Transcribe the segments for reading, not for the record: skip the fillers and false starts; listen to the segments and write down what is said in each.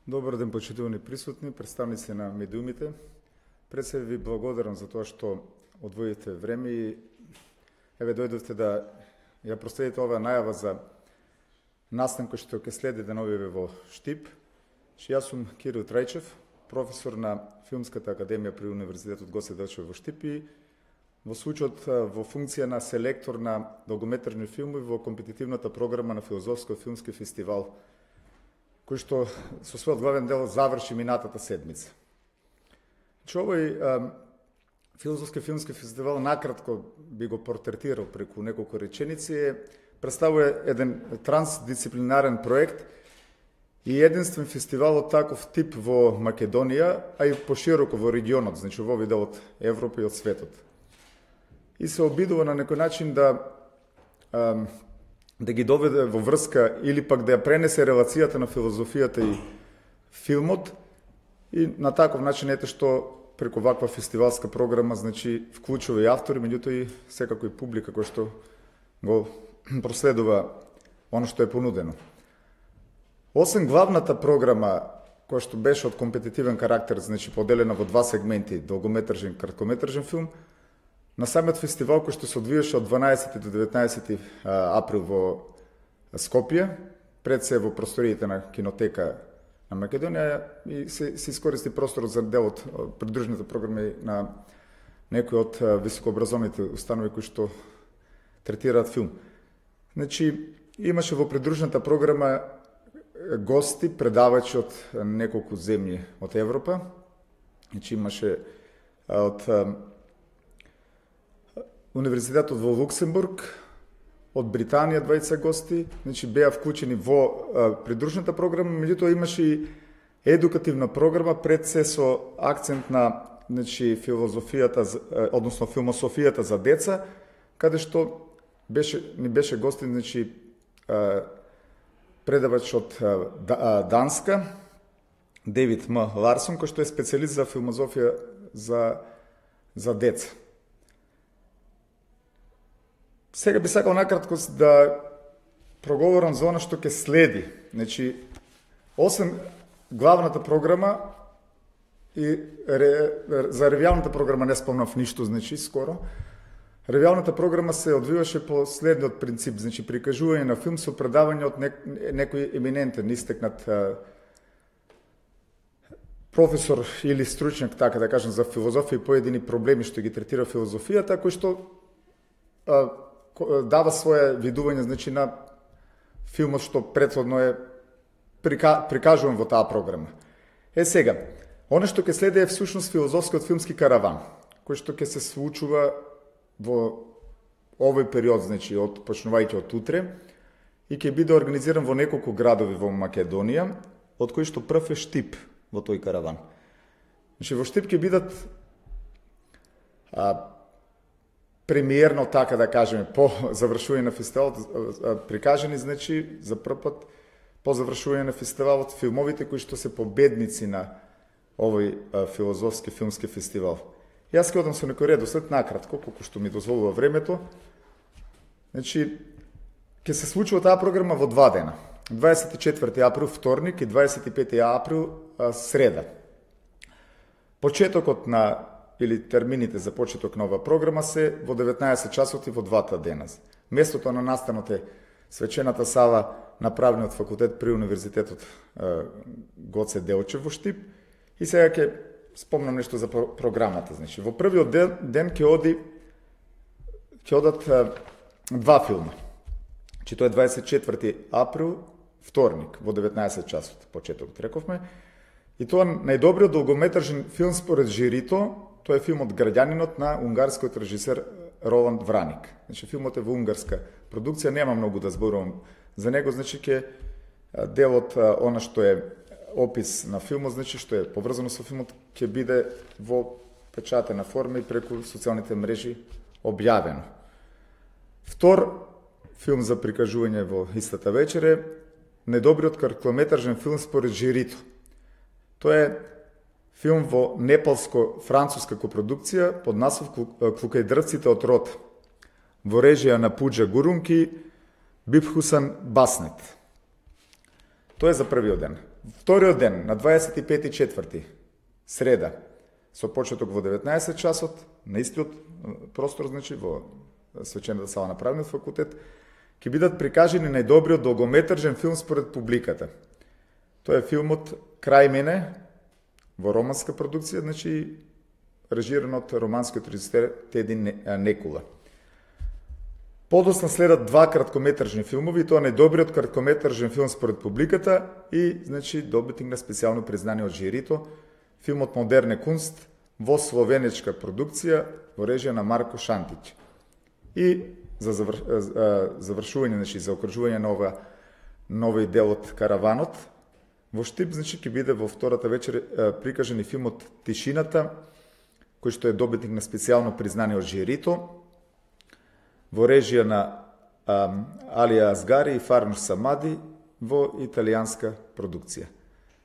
Добар ден, почитувани присутни, представници на медиумите. Пред се ви благодарам за тоа што одвоите време и дојдовте да ја проследите оваа најава за настан кој што ќе следи деновиве во Штип. Јас сум Кирил Трајчев, професор на Филмската академија при Универзитетот Гоце Делчев во Штип и во случајот во функција на селектор на долгометражни филми во компетитивната програма на Филозофско-филмски фестивал, кој што со својот главен дел заврши минатата седмица. Овој Филозофски филмски фестивал, накратко би го портретирал преку неколку реченици, представува еден трансдисциплинарен проект и единствен фестивал од таков тип во Македонија, а и пошироко во регионот, значи во овој дел од Европа и од светот. И се обидува на некој начин да ги доведе во врска или пак да ја пренесе релацијата на филозофијата и филмот и на таков начин ете што преку ваква фестивалска програма значи вклучува и автори, меѓутоа и секако и публика која што го проследува оно што е понудено. Освен главната програма која што беше од компетитивен карактер, значи поделена во два сегменти, долгометражен и краткометражен филм, на самиот фестивал кој што се одвиеше од 12 до 19 април во Скопје, пред се во просториите на кинотека на Македонија и се искористи просторот за дел од придружните програми на некои од високообразовните установи кои што третираат филм. Значи, имаше во придружната програма гости, предавачи од неколку земји од Европа. Значи, имаше од Универзитетот во Луксембург, од Британија двајца гости, значи беа вклучени во придружната програма, меѓутоа имаше и едукативна програма пред се со акцент на значи филозофијата, односно филмософијата за деца, каде што ни беше гостин значи предавач од Данска, Девид М. Ларсон, кој што е специјалист за филмозофија за деца. Сега би сакал накратко да проговорам за она што ќе следи. Значи, освен главната програма и за ревијалната програма не спомнав ништо, значи скоро. Ревијалната програма се одвиваше по следниот принцип, значи прикажување на филм со предавање од некој еминентен, истекнат професор или стручњак, така да кажем, за филозофија и поедини проблеми што ги третира филозофијата, кој што дава своje видување значи на филмот што претходно е прикажуван во таа програма. Сега, оно што ќе следи е всушност филозофскиот филмски караван, кој што ќе се случува во овој период, значи почнувајќи од утре, и ќе биде организиран во неколку градови во Македонија, од кои што прв е Штип во тој караван. Значи во Штип ќе бидат премиерно, така да кажеме, по завршување на фестивалот прикажани, значи, за прв пат по завршување на фестивалот филмовите кои што се победници на овој филозофски филмски фестивал. Јас ќе одам со некој редослед накратко, колку што ми дозволува времето. Значи, ќе се случува таа програма во два дена. 24 април вторник и 25 април среда. Почетокот на или термините за почеток на оваа програма се во 19 часот и во двата дена. Местото на настанот е свечената сала на правниот факултет при Универзитетот Гоце Делчев во Штип. И сега ќе спомнам нешто за програмата. Значи, во првиот ден ќе одат два филма. Значи, тоа е 24 април, вторник, во 19 часот, почетокот рековме. И тоа најдобриот долгометражен филм според жирито, тоа е филмот Граѓанинот на унгарскиот режисер Роланд Враник. Значи, филмот е во унгарска продукција, нема многу да зборувам за него, значи ќе делот она што е опис на филмот, значи што е поврзано со филмот, ќе биде во печатена форма и преку социјалните мрежи објавено. Втор филм за прикажување во истата вечер е најдобриот краткометражен филм според жирито. Тоа е филм во непалско-француска копродукција под наслов Клукајдрвците од рот, во режија на Пуџа Гурунки, Бибхусан Баснет. Тоа е за првиот ден. Вториот ден, на 25.4. среда, со почеток во 19 часот, на истиот простор, значи, во свечената сала на Правниот факултет, ќе бидат прикажени најдобриот долгометражен филм според публиката. Тоа е филмот Крај мене, во романска продукција, значи, режиран од романскиот режисер Теди Некула. Подоцна следат два краткометражни филмови, тоа најдобриот краткометражен филм според публиката и, значи, добитник на специјално признание од жирито, филмот Модерне кунст во словенечка продукција во режија на Марко Шантич. И за завршување, значи, за окружување на нови дел од Караванот, во Штип, значи, ќе биде во втората вечер прикажен и филмот Тишината, кој што е добитник на специјално признание од жирито, во режија на Алија Азгари и Фарнуш Самади во италијанска продукција.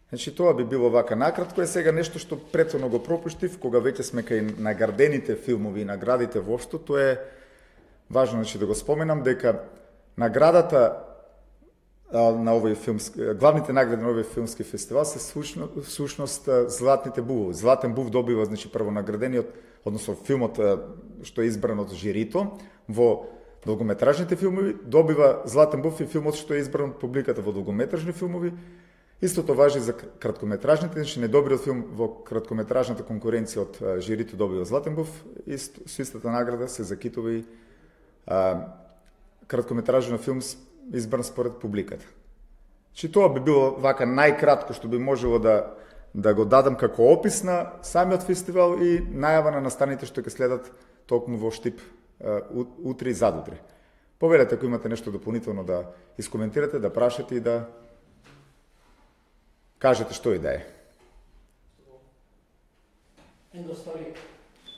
Значи, тоа би било вака накратко, е сега нешто што претhodно го пропуштив, кога веќе сме кај наградените филмови и наградите воопшто, тоа е важно, значи, да го споменам, дека наградата на овој филмски, главните награди на овој филмски фестивал се сушност Златните бувови. Златен був добива, значи, првонаградениот, односно филмот што е избран од жирито, во долгометражните филмови, добива Златен був и филмот што е избран од публиката во долгометражни филмови. Истото важи за краткометражните, значи најдобриот филм во краткометражната конкуренција од жирито добива Златен був и со истата награда се закитува и краткометражен филм избран според публиката. Значи, тоа би било вака најкратко што би можело да го дадам како опис на самиот фестивал и најава на настаните што ќе следат токму во Штип утре и задутре. Повелете ако имате нешто дополнително да искоментирате, да прашате и да кажете што и да е.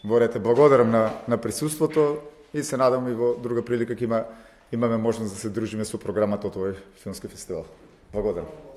Ворете, благодарам на присуството и се надам и во друга прилика ќе имаме можност да се дружиме со програмата од овој филмски фестивал. Благодарам.